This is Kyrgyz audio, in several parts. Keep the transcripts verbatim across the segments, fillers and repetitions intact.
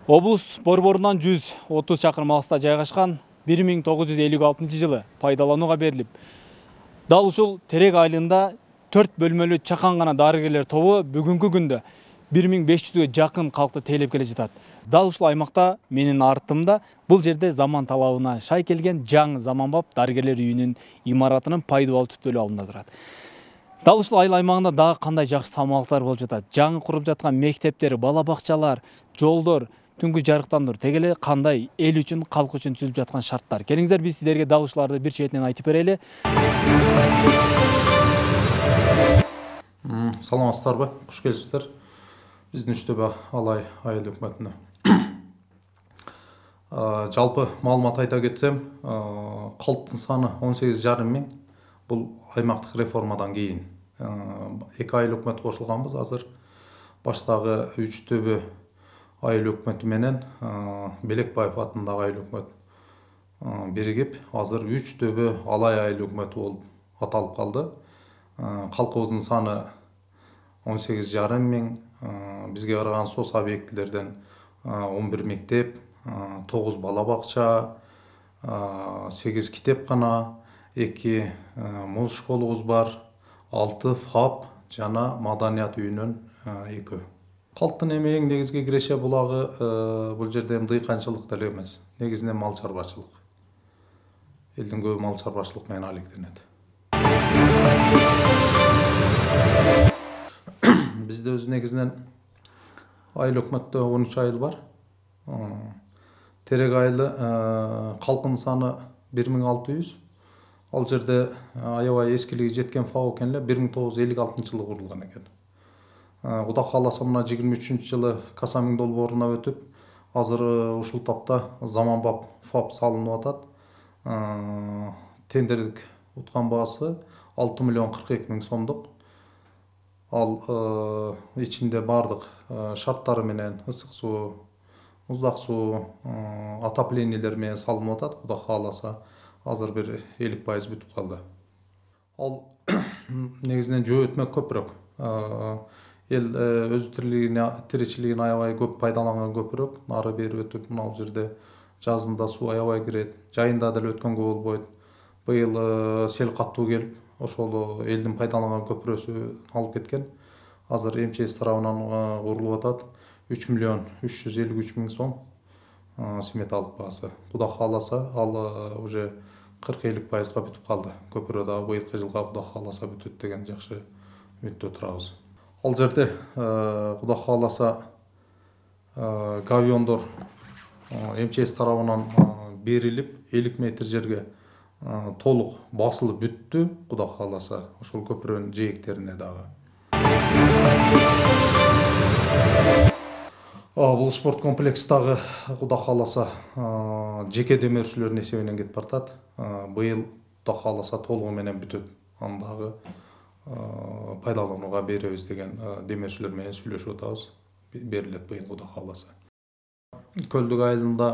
Облус борборунан жүз отуз чакырым алыста жайгашкан бир миң тогуз жүз элүү алтынчы жылы пайдаланууга берилип, дал ушул Терек айылында төрт бөлмөлүү чакан гана дарыгерлер тобу бүгүнкү күндө бир миң беш жүзгө жакын калкты тейлеп келе жатат. Дал ушул аймакта менин артымда бул жерде заман талабына шай келген жаңы заманбап дарыгерлер үйүнүн имаратынын пайдалуу түптөлү алында турат. Дал ушул айыл аймагында дагы кандай жакшы самалыктар болуп жатат. Жаңы куруп жаткан мектептер, бала бакчалар, жолдор, түнкү жарыктандыруу, теге эле кандай эл үчүн, калк үчүн түзүлүп жаткан шарттар. Келиңиздер, биз сиздерге дал ушуларды бир четинен айтып берели. Саламатсыздарбы? Куш келипсиздер. Биздин Үчтөбө Алай айыл өкмөтүнө. Жалпы маалымат айта кетсем, калктын саны он сегиз жарым миң. Бул аймактык реформадан кийин эки айыл өкмөт кошулганбыз. Азыр баштагы Үчтөбө айыл өкмөтү менен Белекбаев атындагы айыл өкмөт биригип, азыр Үчтөбө Алай айыл өкмөтү болуп аталып калды. Калкыбыздын саны он сегиз жарым миң. Бизге караган соц объектилерден он бир мектеп, тогуз бала бакча, сегиз китепкана, эки муз школубуз бар, алты фап жана маданият үйүнөн экөө. Калктын эми эң негизги киреше булагы бул жерде дыйканчылык деле эмес. Негизинен мал чарбачылык. Элдин көбү мал чарбачылык менен алектенет. Бизде өз негизинен айыл өкмөттө он үч айыл бар. Терек айылы калкынын саны бир миң алты жүз. Ал жерде аябай эскилиги жеткен фап экен эле, бир миң тогуз жүз элүү алтынчы жылы курулган экен. Кудай кааласа мына жыйырма үчүнчү жылы Касамин долбооруна өтүп, азыр ушул тапта заманбап фап салынып атат. Тендердик уткан баасы алты миллион кырк эки миң сомдук. Ал ичинде бардык шарттары менен ысык суу, муздак суу, отоплениелер менен салынып атат. Кудай кааласа азыр бир элүү пайыз бүтүп калды. Ал негизинен жөө өтмөк көпүрөк. Эл өз тиричилигин аябай көп пайдаланган көпүрөк. Нары бери өтүп, мына бул жерде жазында суу аябай кирет, жайында деле өткөнгө болбойт. Быйыл сел каттуу келип, ошол элдин пайдаланган көпүрөсү алып кеткен. Азыр МЧС тарабынан курулуп атат. үч миллион үч жүз элүү үч миң сом сметалык баасы. Кудай кааласа ал уже кырк элүү пайызга бүтүп калды. Көпүрө дагы быйылкы жылга кудай кааласа бүтөт деген жакшы үмүттө турабыз. Ал жерде кудай кааласа гавиондор МЧС тарабынан берилип, элүү метр жерге толук басылып бүттү. Кудай кааласа ошол көпүрөнүн жээктерине дагы. Бул спорт комплекс дагы кудай кааласа жеке демөөрчүлөрдүн эсебинен кетип баратат. Быйыл кудай кааласа толугу менен бүтөт. Аны дагы пайдаланууга беребиз деген демөөрчүлөр менен сүйлөшүп атабыз. Берилет быйыл кудай кааласа. Көлдүк айылында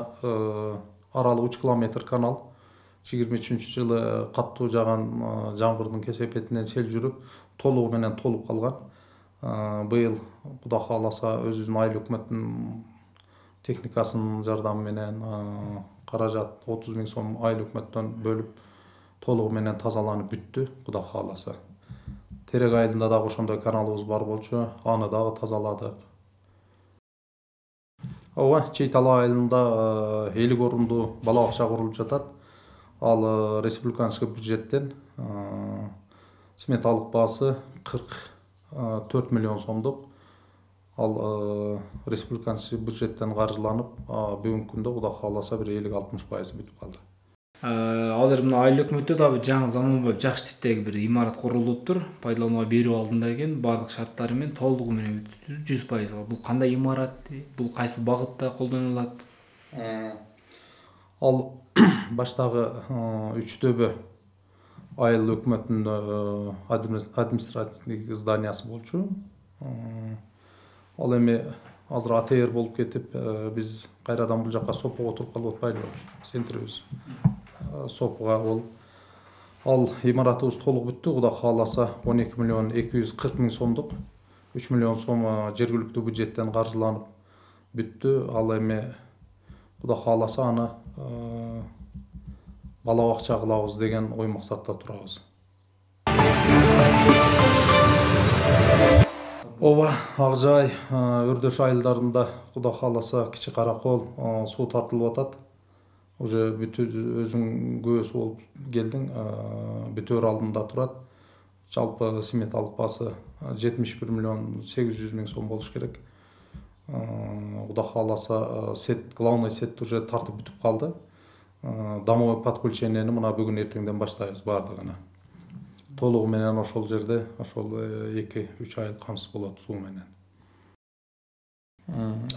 аралы үч километр канал. жыйырма үчүнчү жылы каттуу жаган жамгырдын кесепетинен сел жүрүп, толугу менен толуп калган. Быйыл кудай кааласа өзүбүздүн айыл өкмөттүн техникасынын жардамы менен каражат отуз миң сом айыл өкмөттөн бөлүп, толугу менен тазаланып бүттү. Кудай кааласа. Терек айылында дагы ошондой каналыбыз бар болчу, аны дагы тазаладык. Ооба, Чейтала айылында элүү орундуу бала бакча курулуп жатат. Ал республиканский бюджеттен сметалык баасы кырк төрт миллион сомдук. Ал республиканский бюджеттен каржыланып, бүгүнкү күндө кудай кааласа бир элүү алтымыш пайыз бүтүп калды. Азыр мына айыл өкмөттө дагы бир жаңы заманбап жакшы типтеги бир имарат курулуптур. Пайдаланууга берүү алдында экен, бардык шарттары менен толугу менен бүтүп жүз пайызга. Бул кандай имарат? Бул кайсы багытта колдонулат? Ал баштагы Үчтөбө айыл өкмөтүнүн административдик зданиясы болчу. Ал эми азыр АТР болуп кетип, биз кайрадан бул жакка сопого туруп калып атпайлыбы? Центрибиз сопуга болуп. Ал имаратыбыз толук бүттү. Кудай кааласа он эки миллион эки жүз кырк миң сомдук. үч миллион сом жергиликтүү бюджеттен каржыланып бүттү. Ал эми Кудай кааласа аны бала бакча кылабыз деген ой максатта турабыз. Ооба, Ак Жай, Өрдөш айылдарында Кудай кааласа Кичи Каракол суу тартылып атат. Уже бүтү өзүң көбөсү болуп келдиң, бүтөөр алдында турат. Жалпы сметалык баасы жетимиш бир миллион сегиз жүз миң сом болуш керек. Кудай кааласа сет, главный сет уже тартып бүтүп калды. Домовой подключениени мына бүгүн эртеңден баштайбыз баардыгына. Толугу менен ошол жерде ошол эки үч айыл камсыз болот суу менен.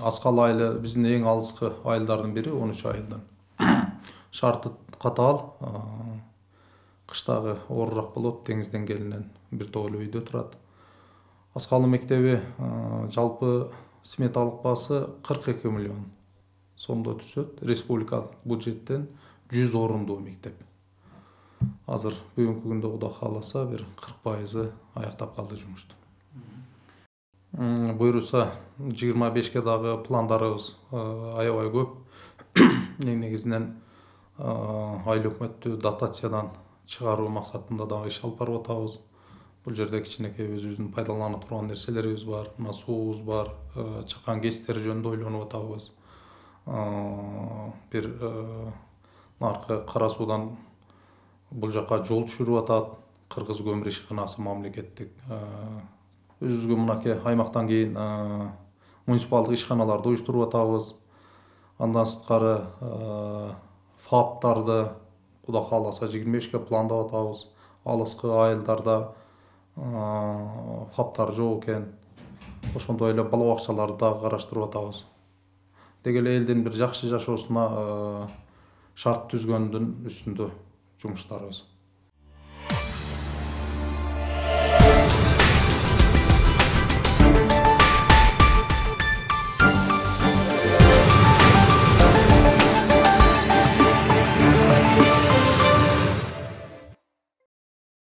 Аскал айылы биздин эң алыскы айылдардын бири, он үч айылдан. Шарты катаал, кыштагы оорураак болот, деңиз деңгээлинен бир тоолуу үйдө турат. Аскалы мектеби жалпы сметалык баасы кырк эки миллион сомдо түзөт. Республикалык бюджеттен жүз орундуу мектеп. Азыр бүгүнкү күндө Кудай кааласа бир кырк пайызы аяктап калды жумушту. Буюрса жыйырма бешке дагы пландарыбыз аябай көп. Эң негизинен айыл өкмөттү дотациядан чыгаруу максатында дагы иш алып барып атабыз. Бул жерде кичинекей өзүбүздүн пайдалана турган нерселерибиз бар, мына суубуз бар, чакан кестери жөнүндө ойлонуп атабыз. Бир наркы Кара суудан бул жака жол түшүрүп атат, Кыргыз көмүр ишканасы мамлекеттик. Өзүбүзгө мынакей аймактан кийин муниципалдык ишканаларды уюштуруп атабыз. Андан сырткары фаптарды Кудай кааласа жыйырма бешке пландап атабыз. Алыскы айылдарда фаптар жок экен. Ошондой эле бала бакчаларды дагы караштырып атабыз. Деги эле элдин бир жакшы жашоосуна шарт түзгөндүн үстүндө жумуштарыбыз.